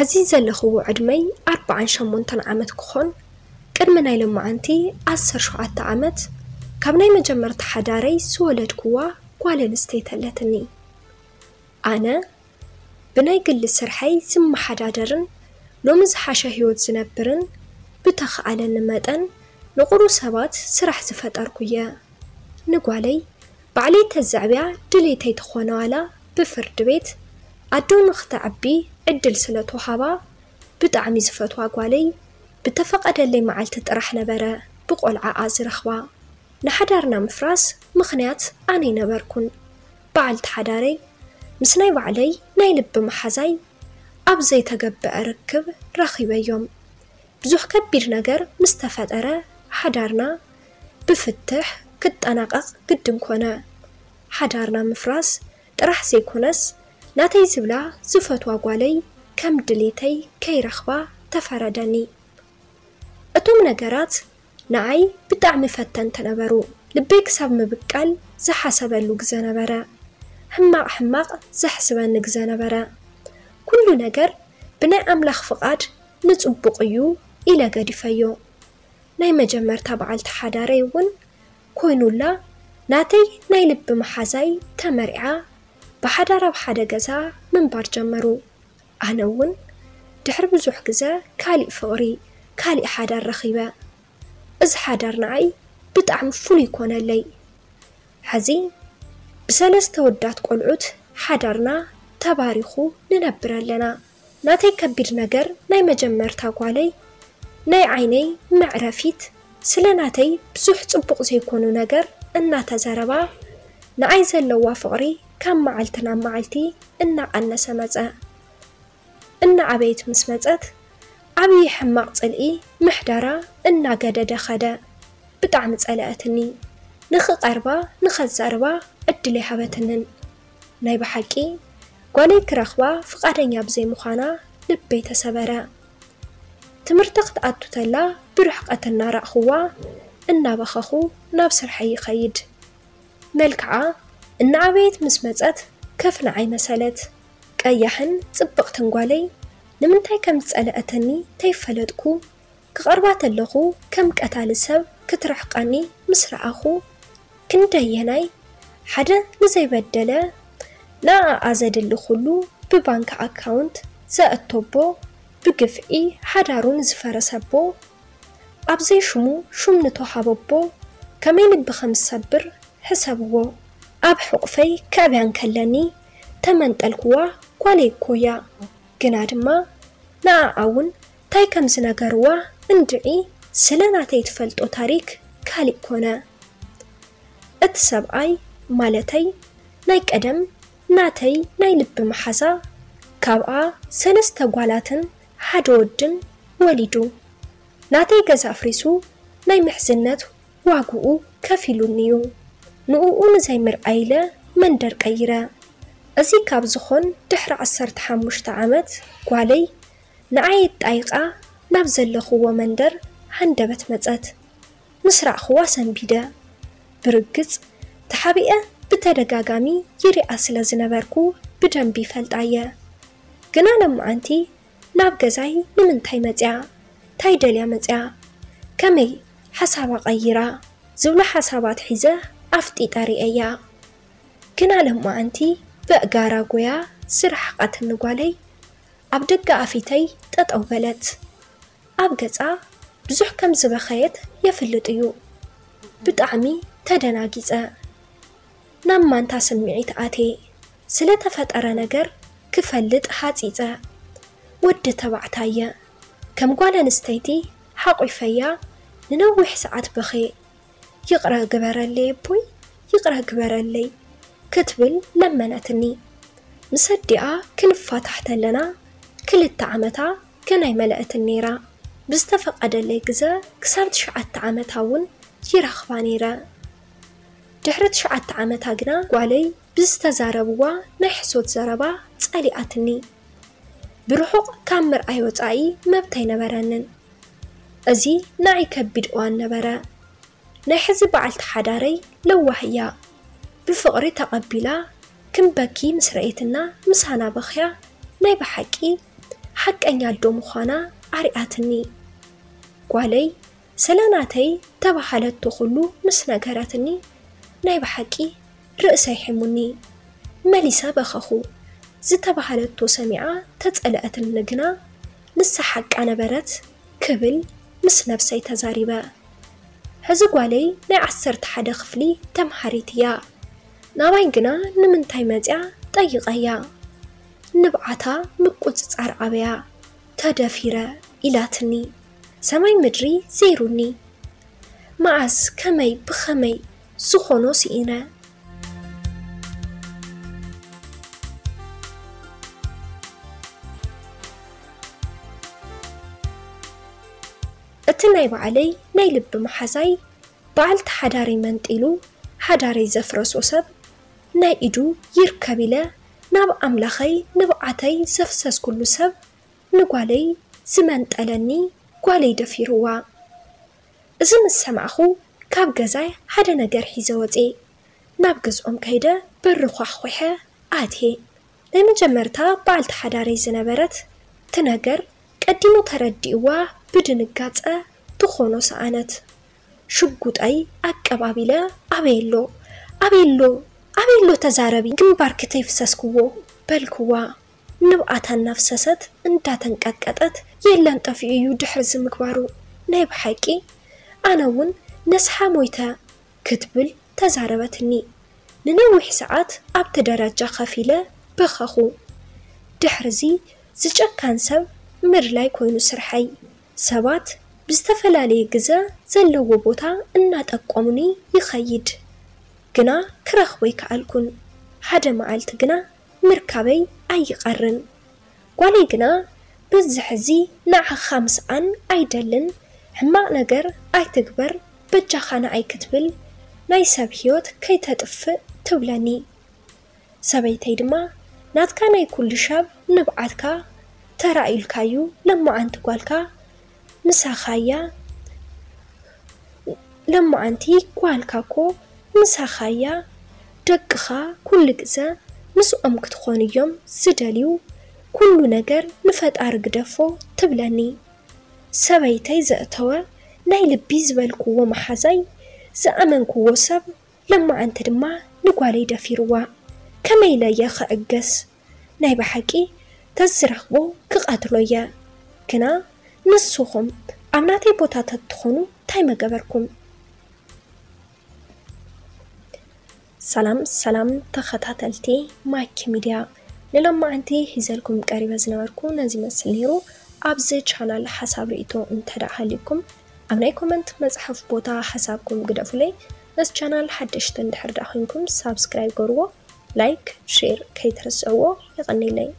እዚ ዘለኽዎ ዕድመይ ኣርባዓን ሸሞንተን ዓመት ክኾን፣ ቅድሚ ናይ ሎማዓንቲ ዓሰርተ ሸውዓተ ዓመት ካብ ናይ መጀመርታ ሓዳረይ ዝወለድክዋ ጓል ኣንስተይቲ ኣለትኒ። ኣነ ብናይ ግሊ ስርሐይ ዝመሓዳደርን ሎሚ ዝሓሸ ህይወት ዝነብርን ብተኸኣለኒ መጠን ንቑሩ ሰባት ስራሕ ዝፈጠርኩ እየ። ንጓለይ ባዕለይ ተዘዕብያ ድሌተይ ተኾነ ዋላ ብፍርዲ ቤት ኣዶ ንኽተዕቢ ዕድል ስለ ተውሃባ ብጣዕሚ ዝፈትዋ ጓለይ ብተፈቐደለይ መዓልቲ ጥራሕ ነበረ ብቖልዓኣ ዝረኽባ። ንሓዳርና ምፍራስ ምኽንያት ኣነ ኣይነበርኩን። በዓልቲ ሓዳረይ ምስ ናይ ባዕለይ ናይ ልቢ መሓዛይ ኣብ ዘይተገበአ ርክብ ረኺበዮም። ብዙሕ ከቢድ ነገር ምስ ተፈጠረ ሓዳርና ብፍትሕ ክጠናቐቕ ግድን ኮነ። ሓዳርና ምፍራስ ጥራሕ ዘይኮነስ ናተይ ዝብላ ዝፈትዋ ጓለይ ከም ድሌተይ ከይረኽባ ተፈረደኒ። እቶም ነገራት ንዓይ ብጣዕሚ ፈተንቲ ነበሩ። ልበይ ክሳብ ምብቃል ዝሓሰበሉ ግዘ ነበረ። ሕማቕ ሕማቕ ዘሕስበኒ ግዘ ነበረ። ኩሉ ነገር ብናይ ኣምላኽ ፍቓድ ንጽቡቕ እዩ ኢለ ገዲፈዮ። ናይ መጀመርታ በዓልቲ ሓዳረይ እውን ኮይኑላ ናተይ ናይ ልቢ መሓዛይ ተመርዓ ብሓዳር ኣብ ሓደ ገዛ ምንባር ጀመሩ። ኣነ እውን ድሕሪ ብዙሕ ግዘ ካሊእ ፍቕሪ፣ ካሊእ ሓዳር ረኺበ። እዚ ሓዳር ንዓይ ብጣዕሚ ፍሉይ ኮነለይ። ሕዚ ብሰለስተ ውዳት ቆልዑት ሓዳርና ተባሪኹ ንነብር ኣለና። ናተይ ከቢድ ነገር ናይ መጀመርታ ጓለይ ናይ ዓይነይ መዕረፊት ስለ ናተይ ብዙሕ ጽቡቕ ዘይኮኑ ነገር እናተዘረባ ንዓይ ዘለዋ ፍቕሪ ካብ መዓልቲ ናብ መዓልቲ እናቐነሰ መጸ። እናዓበየት ምስ መጸት ዓብዪ ሕማቕ ጽልኢ ምሕዳራ እናገደደ ኸደ። ብጣዕሚ ጸለኣትኒ። ንኽቐርባ ንኸዛርባ ዕድል ኣይሃበትንን። ናይ ብሓቂ ጓለይ ክረኽባ ፍቓደኛ ብዘይምዃና ልበይ ተሰበረ። ትምህርቲ ክትኣቱ ተላ ብርሕቐት እናራእኽዋ እናበኸኹ ናብ ስርሐይ ይኸይድ። መልክዓ እናዓበየት ምስ መጸት ከፍ ንዓይ መሰለት። ቀያሕን ጽብቕትን ጓለይ ንምንታይ ከም ዝጸለኣትኒ ተይፈለጥኩ ክቐርባ ተለኹ ከም ቀታሊ ሰብ ክትርሕቐኒ ምስ ረኣኹ ክንደየናይ ሓደ ንዘይበደለ ንኣኣ ዘድሊ ኩሉ ብባንክ ኣካውንት ዘእቶቦ ብግፍዒ ሓዳሩ ንዝፈረሰቦ ኣብ ዘይሽሙ ሹም ንተውሃበቦ ከመይ ልቢ ከም ዝሰብር ሕሰብዎ። ኣብ ሕቑፈይ ከዕብያ እንከለኒ ተመንጠልክዋ ጓለይ እኮ እያ። ግና ድማ ንኣኣ እውን ታይ ከም ዝነገርዋ እንድዒ ስለ ናተይ ትፈልጦ ታሪክ ካሊእ ኮነ። እቲ ሰብኣይ ማለተይ ናይ ቀደም ናተይ ናይ ልቢ መሓዛ ካብኣ ሰለስተ ጓላትን ሓደ ወድን ወሊዱ ናተይ ገዛ ኣፍሪሱ ናይ ምሕዝነት ዋግኡ ከፊሉኒ እዩ። ንእኡ ንዘይምርኣይ ኢለ መንደር ቀይረ። እዚ ካብ ዝኾን ድሕሪ ዓሰርተ ሓሙሽተ ዓመት ጓለይ ንዓይ ኣጣይቓ ናብ ዘለኽዎ መንደር ሃንደበት መጸት። ምስ ረኣኽዋ ሰንቢደ። ብርግጽ ተሓቢአ ብተደጋጋሚ ይሪኣ ስለ ዝነበርኩ ብደንቢ ይፈልጣ እየ። ግና ሎማዓንቲ ናብ ገዛይ ንምንታይ መጽያ? ታይ ደልያ መጽያ? ከመይ ሓሳባ ቀይራ? ዝብሉ ሓሳባት ሒዘ ኣፍጢጠ ርእየያ። ግና ሎማዓንቲ ብእጋራ ጎያ ዝረሓቐትኒ ጓለይ ኣብ ደገ ኣፊተይ ጠጠው በለት። ኣብ ገጻ ብዙሕ ከም ዝበኸየት የፍልጥ እዩ። ብጣዕሚ ተደናጊጸ። ናብ ማንታ ስምዒት ኣትየ። ስለ ተፈጠረ ነገር ክፈልጥ ሃጺጸ። ወዲ ተባዕታይ እየ። ከም ጓል ኣንስተይቲ ሓቑፈያ ንነዊሕ ሰዓት በኽየ። ይቕረ ግበረለይ ኣቦይ፣ ይቕረ ግበረለይ ክትብል ለመነትኒ። ምስ ኣዲኣ ክንፋታሕ ተለና ክልተ ዓመታ ገና ኣይመለአትን ነይራ። ብዝተፈቐደለይ ግዘ ክሳብ ትሽዓተ ዓመታ እውን ይረኽባ ነይረ። ድሕሪ ትሽዓተ ዓመታ ግና ጓለይ ብዝተዛረብዋ ናይ ሕሶት ዘረባ ጸሊኣትኒ። ብርሑቕ ካብ ምርኣይ ወጻኢ መብት ኣይነበረንን። እዚ ንዓይ ከቢድ እዋን ነበረ። ናይ ሕዚ በዓልቲ ሓዳረይ ለዋህ እያ። ብፍቕሪ ተቐቢላ ክንበኪ ምስ ረኤትና ምሳና በኽያ ናይ ብሓቂ ሓቀኛ ኣዶ ምዃና ኣርኣያትኒ። ጓለይ ሰለናተይ ተባሃለቶ ኩሉ ምስ ነገረትኒ፣ ናይ ብሓቂ ርእሰይ ሒሙኒ። መሊሰ በኸኹ። ዝተባሃለቶ ሰሚዓ ተጸለኣትኒ ግና፣ ንሳ ሓቃ ነበረት ክብል ምስ ነብሰይ ተዛሪበ። ሕዚ ጓለይ ናይ ዓሰርተ ሓደ ክፍሊ ተምሃሪት እያ። ናባይ ግና ንምንታይ መጽያ ጠይቐያ። ንብዓታ ምቁጽጻር ኣበያ። ተደፊረ ኢላትኒ። ሰማይ ምድሪ ዘይሩኒ። መዓስ፣ ከመይ፣ ብኸመይ ዝኾኖ ስኢነ። እቲ ናይ ባዕለይ ናይ ልቢ መሓዛይ፣ በዓልቲ ሓዳረይ መንጢሉ ሓዳረይ ዘፍረሶ ሰብ፣ ናይ ኢዱ ይርከብ ኢለ ናብ ኣምላኸይ ንብዓተይ ዘፍሰስኩሉ ሰብ፣ ንጓለይ ዝመንጠለኒ ጓለይ ደፊርዋ። እዚ ምስ ሰማዕኹ ካብ ገዛይ ሓደ ነገር ሒዘ ወፅየ። ናብ ገዝኦም ከይደ በሪ ኳሕኲሐ ኣትየ። ናይ መጀመርታ በዓልቲ ሓዳረይ ዝነበረት እቲ ነገር ቀዲሙ ተረዲእዋ ብድንጋፀ ትኾኖ ሰኣነት። ሽጉጠይ ኣቀባቢለ ኣበየሎ ኣበየሎ ኣበየሎ ተዛረቢ ግንባርኪ ተይፍሰስክዎ በልክዋ። ንብዓታ እናፍሰሰት እንዳተንቀጥቀጠት የለን ጠፊኡ እዩ ድሕሪ እዚ ምግባሩ። ናይ ብሓቂ ኣነ እውን ነስሓ ሞይተ ክትብል ተዛረበትኒ። ንነዊሕ ሰዓት ኣብቲ ደረጃ ከፍ ኢለ በኸኹ። ድሕርዚ ዝጨካን ሰብ ምድላይ ኮይኑ ስርሐይ። ሰባት ብዝተፈላለየ ግዘ ዘለዎ ቦታ እናጠቆሙኒ ይኸይድ፣ ግና ክረኽቦ ኣይከኣልኩን። ሓደ መዓልቲ ግና ምርካበይ ኣይቐርን። ጓለይ ግና በዚ ሕዚ ንዓኻ ምስኣን ኣይደልን፣ ሕማቕ ነገር ኣይትግበር በጃኻ ንዓይ ክትብል ናይ ሰብ ህይወት ከይተጥፍእ ትብለኒ። ሰበይተይ ድማ ናትካ ናይ ኩሉ ሻብ ንብዓትካ ተራእዩልካዩ ለማዓንቲ ጓልካ ምሳኻያ ለማዓንቲ ጓልካ እኮ ምሳኻያ ደቅኻ ኩሉ ግዘ ምስኦም ክትኾን እዮም ዝደልዩ። ኩሉ ነገር ንፈጣሪ ግደፎ ትብለኒ። ሰበይተይ ዘእተወ ናይ ልቢ ዝበልክዎ መሓዛይ ዝኣመንክዎ ሰብ ለማዓንቲ ድማ ንጓለይ ደፊርዋ። ከመይ ኢለ እየ ክዕገስ? ናይ ብሓቂ ተዝረኽቦ ክቐትሎ እየ። ግና ንስኹም ኣብ ናተይ ቦታ ተትኾኑ እንታይ መገበርኩም? ሰላም ሰላም ተኸታተልቲ ማኪ ሚድያ፣ ንሎማዓንቲ ሒዘልኩም ቀሪበ ዝነበርኩ ነዚ መስል ነይሩ። ኣብዚ ቻናል ሓሳብ ርእይቶ እንተ ደኣ ሃልዩኩም ኣብ ናይ ኮመንት መጽሓፍ ቦታ ሓሳብኩም ግደፉለይ። ነዚ ቻናል ሓደሽቲ እንድሕር ደኣ ኮይንኩም ሳብስክራይብ ገርዎ፣ ላይክ፣ ሼር ከይትርስዕዎ። የቐንየለይ።